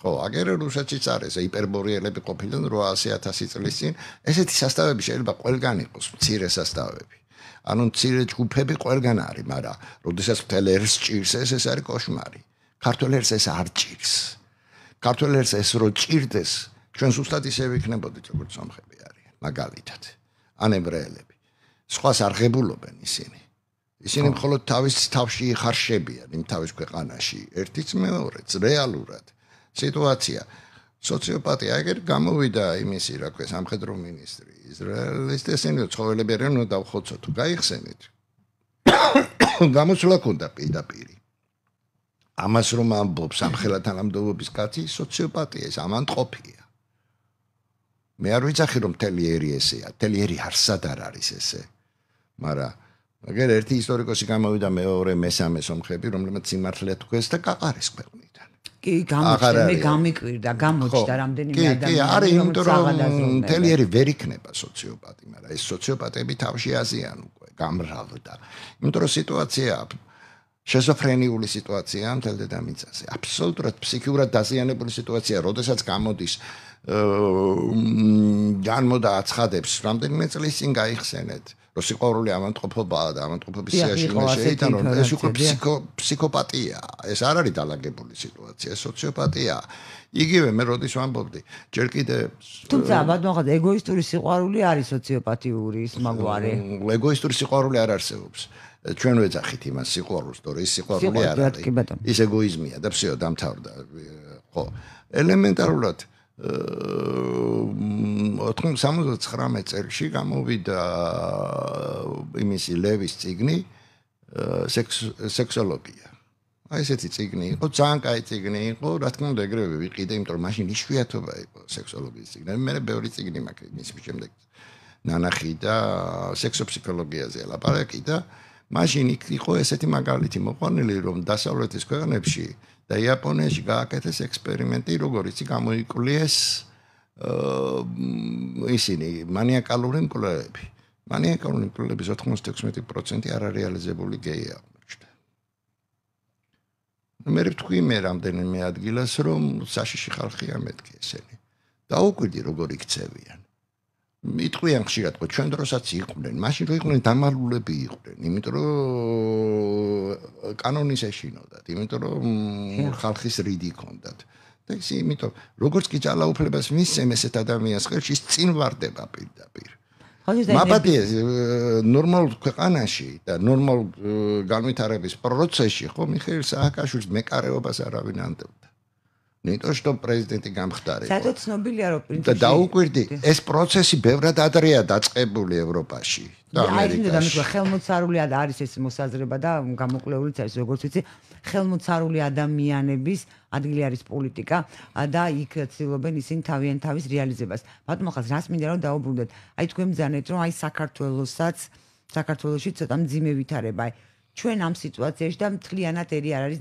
ხო, აგერ რუსეთშიც არის ჰიპერბორიელები ყოფილან რვაასი ათასი წლის წინ. ესეთი სასტავები შეიძლება ყველგან იყოს, მცირე სასტავები. ანუ მცირე ჯგუფები ყველგან არის, მაგრამ როდესაც მთელ ერს ჭირს ეს, ეს არის კოშმარი. ქართულ ერს ეს არ ჭირს. ქართველ ერთს ეს რო ჭირდეს, ჩვენ ზუსტად ისე ვიქნებოდით, როგორც სომხები არიან, მაგალითად. ან ებრაელები. სხვას არ ღებულობენ ისინი. ისინი მხოლოდ თავის თავში იხარშებიან იმ თავის ქვეყანაში, ერთიც მეორეც რეალურად. სიტუაცია სოციოპატია ეგერ გამოვიდა იმისი, რა ქვია, სამხედრო მინისტრი ისრაელის ესენი ცხოველები არიან, უნდა დავხოცოთ, გაიხსენით. გამოსვლა ქონდა პირდაპირ. ამას რომ ამბობს სამხედრო თანამდებობის კაცი, სოციოპატია ეს ამანტყოფია. მე არ ვიცახი რომ თელიერი ესეა, თელიერი არსად არ არის ესე. მაგრამ მაგერ ერთი ისტორიკოსი გამოვიდა მეორე მესამე სომხები, რომლებმაც სიმართლე თქვეს და გაყარეს ქვეყნიდან. კი, გამოჩნდა, მე გამიკვირდა, გამოჩნდა რამდენიმე ადამიანი. კი, არის იმიტომ რომ თელიერი ვერ იქნება სოციოპატი, მაგრამ ეს სოციოპატები თავში აზიან უკვე, გამრავლდა. იმიტომ რომ სიტუაცია შეზოფრენიული სიტუაცია მთელ დედამიწაზე. აბსოლუტურად ფსიქიურად დაზიანებული სიტუაცია, როდესაც გამოდის განმოდა აცხადებს, რამდენიმე წლის წინ გაიხსენეთ, რომ სიყვარული ამანტყოფობაა და ამანტყოფობის სიაში უნდა შეიტანო, რომ ეს უკვე ფსიქოპატია, ეს არ არის დალაგებული სიტუაცია, ეს სოციოპატია. იგივე მე როდის ვამბობდი, ჯერ კიდე თუმცა ბატონო, ეგოისტური სიყვარული არის სოციოპათიური ის მაგვარი. ეგოისტური სიყვარული არ არსებობს. ჩვენ ვეძახით იმას სიყვარულს, თორე ის სიყვარული არ არის. ის ეგოიზმია და всё დამთავრდა. ხო, ელემენტარულად ოთხმოცდათვრამეტ წელს გამოვიდა იმისი ლევის წიგნი სექსოლოგია. აი ესეთი წიგნი იყო, ძალიან კაი წიგნი იყო, რა თქმა უნდა ეგრევე ვიყიდე, იმიტომ რომ მაშინ იშვიათობა იყო სექსოლოგიის წიგნი. მე ბევრი წიგნი მაქვს მის შემდეგ ნანახი და სექსოფსიქოლოგიაზე ლაპარაკი და მაშინ იყო ესეთი მაგალითი მოყვანილი, რომ დასავლეთის ქვეყნებში და იაპონიაში გააკეთეს ექსპერიმენტი, როგორიც გამოიკვლიეს ისინი მანიაკალური მკვლელები. მანიაკალური მკვლელების ოთხმოცდაექვსმეტი პროცენტი არარეალიზებული გეი აღმოჩნდა. მე ვთქვი მე რამდენიმე ადგილას, რომ საშიში ხალხია მეთქი ესენი. დაუკვირდი როგორ იქცევიან. იტყვიან ხშირად, რომ ჩვენ დროსაც იყვნენ, მაშინ რო იყვნენ დამალულები იყვნენ, იმიტომ რომ კანონის ეშინოდათ, იმიტომ რომ ხალხის რიდი ჰქონდათ. და ის იმიტომ როგორც კი ძალაუფლებას მისცემ ესეთ ადამიანს ხელში წინ ვარდება პირდაპირ. მაპატიე ნორმალ ქვეყანაში და ნორმალ განვითარების პროცესში ხო მიხეილ სააკაშვილის მეკარეობას არავინ ანდევდა. ნიტო што პრეზიდენტი გამხდარიყო. სადაც ცნობილია რომ პრინციპი და დაუკვირდი ეს პროცესი ბევრად ადრეა დაწყებული ევროპაში და ამერიკაში. აი, მე ხელმოწარული არის ეს მოსაზრება და გამოკვლეულიც არის როგორც ვიცი, ხელმოწარული ადამიანების ადგილი არის პოლიტიკა და იქ ცდილობენ ისინი თავიანთ თავის რეალიზებას. ბატონო ხალხს რას მინდა რომ დაუბრუნდეთ? აი თქვენ მძანეთ რომ აი საქართველოსაც საქართველოში ცოტა მძიმე ვითარება. აი ჩვენ ამ სიტუაციაში და მთლიანად ერი არ არის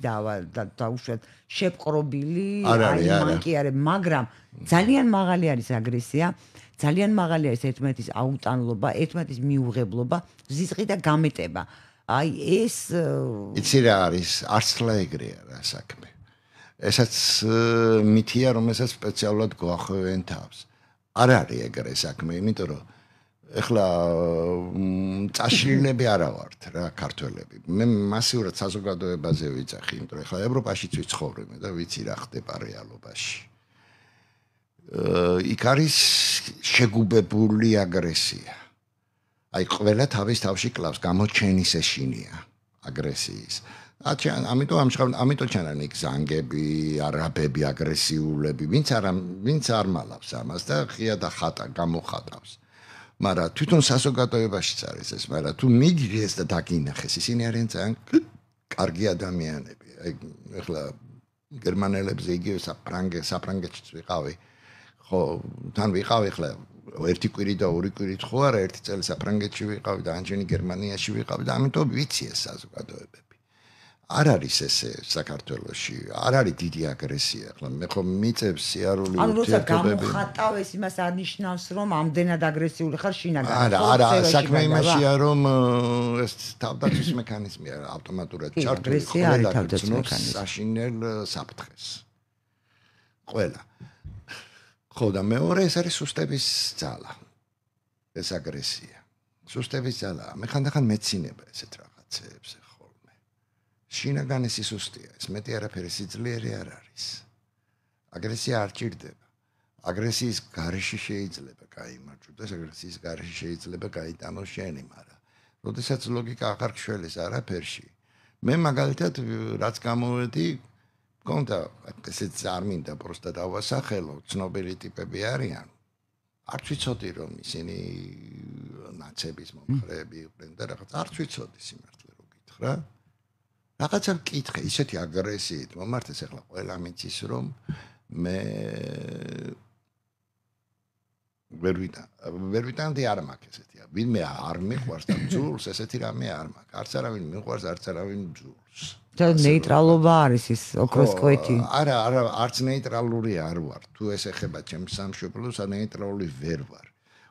დაუშვათ შეპყრობილი, აი მან კი არის, მაგრამ ძალიან მაღალი არის აგრესია, ძალიან მაღალი არის ერთმანეთის აუტანლობა, ერთმანეთის მიუღებლობა, ზიზღი და გამეტება. აი ეს იცი რა არის, არცლა ეგრეა რა საქმე. ესაც მითია, რომელსაც სპეციალურად გვახვევენ თავს. არ არის ეგრე საქმე, იმიტომ რომ ეხლა წაშლილები არა ვართ რა ქართველები. მე მასიურად საზოგადოებაზე ვიცახი, იმიტომ რომ ეხლა ევროპაშიც ვიცხოვრობ და ვიცი რა ხდება რეალობაში. იქ არის შეგუბებული აგრესია. აი ყველა თავის თავში კლავს, გამოჩენის ეშინია აგრესიის. ამიტომ ამჟღავნ, ამიტომ ჩანან იქ ზანგები, არაბები, აგრესიულები, ვინც არ ვინც არ მალავს ამას და ხია და ხატა გამოხატავს. მაგრამ თვითონ საზოგადოებაშიც არის ეს, მაგრამ თუ მიგიდეს და დაგინახეს, ისინი არიან ძალიან კარგი ადამიანები. აი ეხლა გერმანელებზე იგივე საფრანგე, საფრანგეთშიც ვიყავი. ხო, თან ვიყავი ეხლა ერთი კვირი და ორი კვირით ხო არა, ერთი წელი საფრანგეთში ვიყავი და ანჯენი გერმანიაში ვიყავი და ამიტომ ვიცი ეს საზოგადოებები. არ არის ესე საქართველოში, არ არის დიდი აგრესია. ახლა მე ხო მიწევს სიარული ურთიერთობები. ანუ როცა გამოხატავ ეს იმას არ ნიშნავს, რომ ამდენად აგრესიული ხარ შინაგანად. არა, არა, საქმე იმაშია, რომ ეს თავდაცვის მექანიზმია ავტომატურად ჩართული ყველა გრძნობს საშინელ საფრთხეს. ყველა. ხო და მეორე ეს არის სუსტების ძალა. ეს აგრესია. სუსტების ძალა. მე ხანდახან მეცინება ესეთ რაღაცეებს. შინაგანი სისუსტეა, ეს მეტი არაფერი სიძლიერე არ არის. აგრესია არ ჭირდება. აგრესიის გარეშე შეიძლება გაიმარჯვდეს, აგრესიის გარეშე შეიძლება გაიტანოს შენი, მაგრამ როდესაც ლოგიკა აღარ გშველეს არაფერში, მე მაგალითად რაც გამოვედი, მქონდა ესეც არ მინდა პროსტა დავასახელო, ცნობილი ტიპები არიან. არც ვიცოდი რომ ისინი ნაცების მომხრეები იყვნენ და რაღაც არც ვიცოდი სიმართლე რო გითხრა. რაღაცა მკითხე, ისეთი აგრესიით მომართეს ახლა ყველა მიცის რომ მე ვერ ვიტა ვერ ვიტანდი არ მაქვს ესეთი ვინმე არ მიყვარს და ბძულს ესეთი რამე არ მაქვს არც არავინ მიყვარს არც არავინ ბძულს და ნეიტრალობა არის ის ოქროს კვეთი არა არა არც ნეიტრალური არ ვარ თუ ეს ეხება ჩემს სამშობლოს ან ნეიტრალური ვერ ვარ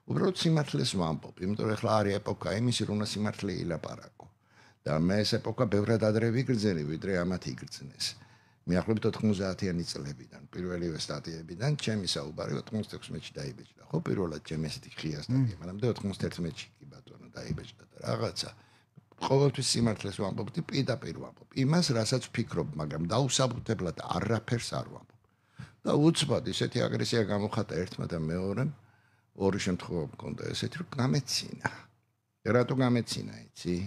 უბრალოდ სიმართლეს ვამბობ იმიტომ რომ ახლა არის ეპოქა იმისი რომ უნდა სიმართლე ილაპარაკო და მე ეს ეპოქა ბევრად ადრე ვიგრძელი ვიდრე ამათ იგრძნეს მიახლოებით ოთხმოცდაათიანი წლებიდან პირველივე სტატიებიდან ჩემი საუბარი ოთხმოცდაექვსი დაიბეჭდა ხო პირველად ჩემი ესეთი ღია სტატია მაგრამ და ოთხმოცდაერთმეტში კი ბატონო დაიბეჭდა და რაღაცა ყოველთვის სიმართლეს ვამბობდი პირდაპირ ვამბობ იმას რასაც ვფიქრობ მაგრამ დაუსაბუთებლად არაფერს არ ვამბობ და უცბად ისეთი აგრესია გამოხატა ერთმა და მეორემ ორი შემთხვევა მქონდა ესეთი რომ გამეცინა რატო გამეცინა იცი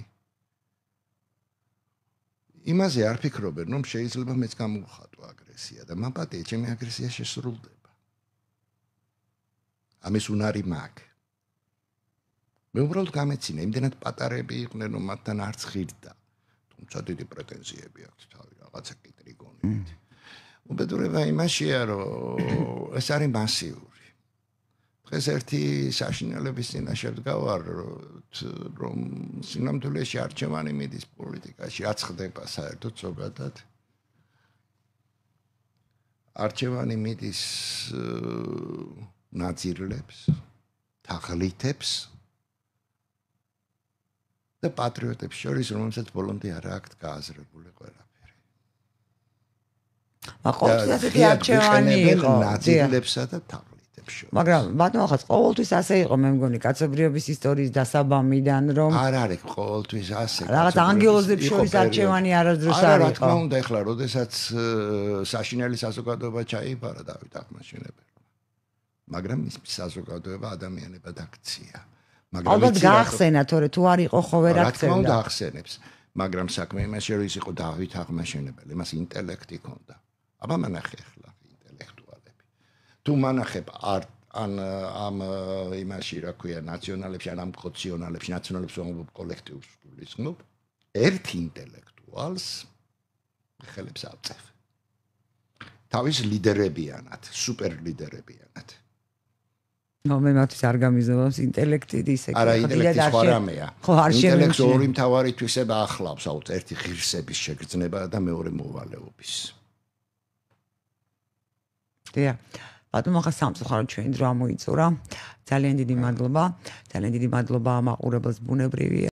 იმაზე არ ფიქრობენ რომ შეიძლება მეც გამოვხატო აგრესია და მაპატია ჩემი აგრესია შესრულდება ამის უნარი მაქვს მე უბრალოდ გამეცინა იმდენად პატარები იყვნენ რომ მათთან არც ხირდა თუმცა დიდი პრეტენზიები აქვს თავი რაღაცა კიტრიგონით უბედურება იმაშია რომ ეს არის მასიური დღეს ერთი საშინელების წინაშე ვდგავარ რომ სინამდვილეში არჩევანი მიდის პოლიტიკაში რაც ხდება საერთოდ ზოგადად არჩევანი მიდის ნაძირლებს თაღლითებს და პატრიოტებს შორის რომელსაც ბოლომდე არ აქვს გააზრებული ყველაფერი მაგრამ ასეთი არჩევანი იყო ნაძირლებსა და თაღლითებს მაგრამ ბატონო ხაც ყოველთვის ასე იყო მე მგონი კაცობრიობის ისტორიის დასაბამიდან რომ არ არის ყოველთვის ასე რაღაც ანგელოზებს შორის არჩევანი არასდროს არ იყო რა თქმა უნდა ეხლა როდესაც საშინელი საზოგადოება ჩაიბარა დავით აღმაშენებელმა მაგრამ ის საზოგადოება ადამიანებად აქცია მაგრამ ალბათ გაახსენა თორე თუ არ იყო ხო ვერ აქცევდა რა თქმა უნდა ახსენებს მაგრამ საქმე იმაში რომ ის იყო დავით აღმაშენებელი მას ინტელექტი ჰქონდა აბა მანახე ახლა ინტელექტუალები თუ მანახებ არ ან ამ იმაში რა ქვია ნაციონალებში ან ამ კოციონალებში ნაციონალებს ვამბობ კოლექტივს გულისხმობ ერთ ინტელექტუალს ხელებს აწევ თავის ლიდერებიანად სუპერ ლიდერებიანად ნუ მე მათთვის არ გამიზოვავს ინტელექტი ისე არა ინტელექტი სხვა რამეა ხო არ შემიძლია ინტელექტი ორი მთავარი თვისება ახლავს აუთ ერთი ღირსების შეგრძნება და მეორე მოვალეობის დია ბატონო ხა სამწუხაროდ ჩვენი დრო ამოიწურა ძალიან დიდი მადლობა ძალიან დიდი მადლობა მაყურებელს ბუნებრივია